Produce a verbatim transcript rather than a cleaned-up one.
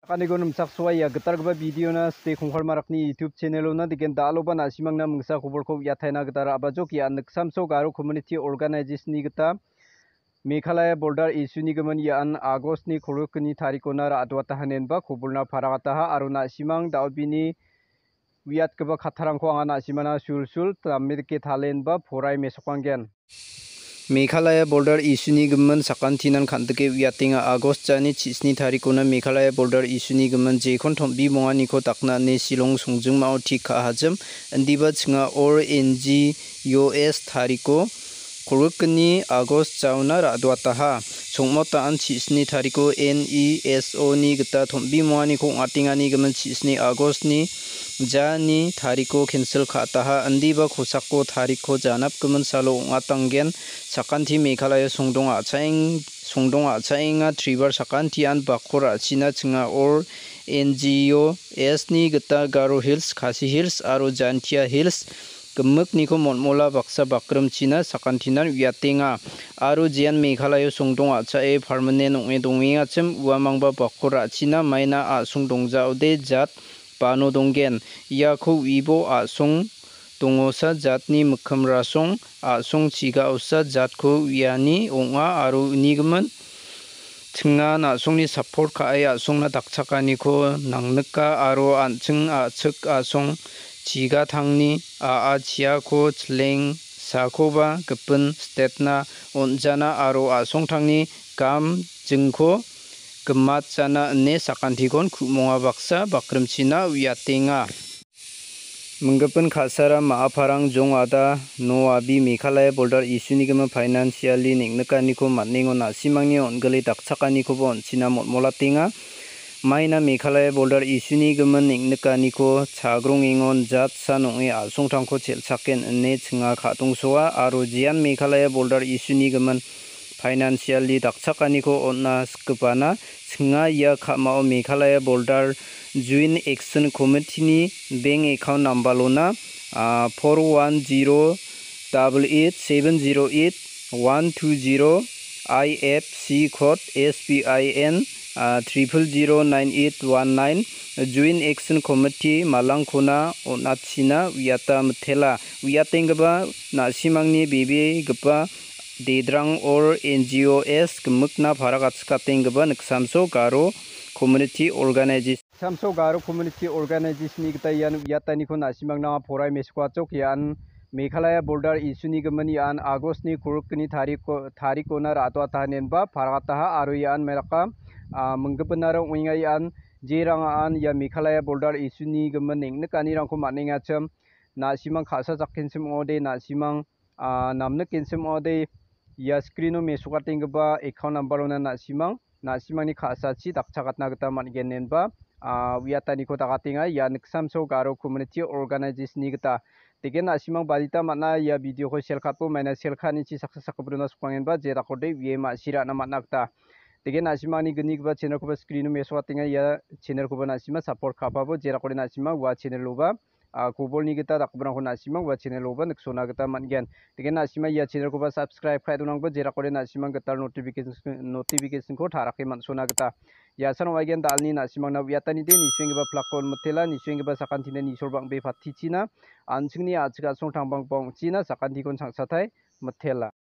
Kaniko nimchaksoa ia gitalgipa video-na Ste Kongkal Marakni YouTube channel-ona degen dal·oba na·simangna mingsa kobolko uiataina gita ra·bajok ia niksamso Garo Community Organization-ni gita Meghalaya Border Issue-ni gimin ian August-ni kolgrikni tarikona ra·adoataha inenba kobolna paragataha aro na·simang dal·bini uiatgipa kattarangko anga na·simana sulsul dame dake talenba porai mesokanggen. Meghalaya Border Issue-ni gimin sakantinan kan·dike uiatenga. August jani chisni tarikona Meghalaya Border Issue-ni gimin jekon tom·bimonganiko dakna ine Shillong songjingmao tik ka·ahajim. Indiba chinga or N G O S tariko kolgrikni August jaona ra·doataha. Chongmot da·an chisni tariko N E S O-ni gita tom·bimonganiko ong·atengani gimin chisni August-ni jani tariko cancel ka·ataha. Indiba kosako tarikko janapgimin salo ong·atanggen. Sakanti Meghalaya songdong a·chaeng-, songdong a·chaenga tribar sakantian bakko ra·china chinga or N G O S-ni gita Garo Hills, Khasi Hills aro Jaintia Hills gimikniko molmola baksa bakrimchina sakantinan uiatenga. Aro jean Meghalaya songdong a·chae permanent ong·e dongengachim uamangba bakko ra·china maina a·song dongjaode jat bano donggen. Iako uibo a·song dongosa jatni mikkim rasong a·song chigaosa jatko uiani ong·a aro unigimin chinga na·songni support ka·e a·songna dakchakaniko nangnika aro an·ching a·chik a·song chigatangni a·a chiako chileng sakoba gipin stetna on·jana aro a·songtangni gam jingko gimatjana ine sakantikon ku·monga baksa bakrimchina uiatenga. Minggipin ka·sara ma·a parang jong ada no abi Meghalaya Border Issue-ni gimin financially neng·nikaniko man·engon na·simangni on·gile dakchakanikoba on·china molmolatenga. Maina Meghalaya Border Issue-ni gimin neng·nikaniko chagrongengon jatsan ong·e a·songtangko chel·chaken ine chinga ka·dongsoa aro jean Meghalaya Border Issue-ni gimin financially dakchakaniko on·na sikgipana chinga ia ka·mao Meghalaya Border Joint Action Committee-ni bank account number-ona, ah, four one zero double eight seven zero eight one two zero, I F C code S B I N, ah, triple zero nine eight one nine, Joint Action Committee malangkona on·achina uiata mitela. Uiatenggipa na·simangni bebegipa dedrang or N G O S gimikna para gatchikatenggipa niksamso Garo Community Organization. Niksamso Garo Community Organization-ni gita ian uiataniko na·simangna porai mesokachok ian Meghalaya Border Issue-ni gimin ian August-ni kolgrikni tariko-, tarikona ra·doataha inenba paragataha aro ian meraka, ah, minggipinara ong·enga ian jerangan ia Meghalaya Border Issue-ni gimin neng·nikanirangko man·engachim na·simang ka·sa jakkenchim ong·ode na·simang ah, namnik genchim ong·ode ia screen-o mesokatenggipa account number-ona na·simang, na·simangni ka·sachi dakchakatna gita man·gen inenba, ah, uiataniko dakatenga ia niksamso Garo Community Organization-ni gita. Degen na·simang badita man·a ia video-ko share ka·bo maina share ka·anichi saksa sakgiprona sokbangenba jedakode uie ma·sirana man·a gita. Degen na·simangni gnigipa channel-koba screen-o mesokatenga ia channel-koba na·sima support ka·pabo jedakode na·sima ua channel-oba ah, kobolni gita dakgiparangko na·simang ua channel-oba niksona gita man·gen. Degen na·sima ia channel-koba subscribe ka·e donangba jerakode na·simang gital notification, notification-ko tarake man·sona gita. Ia san ong·aigen dalni na·simangna uiatanide nisuenggipa plak-ko on mitela, nisuenggipa sakantinde nisol bang·be patichina, an·chingni a·chik a·song tangbangbang ong·china, sakantikon changsatai mitela.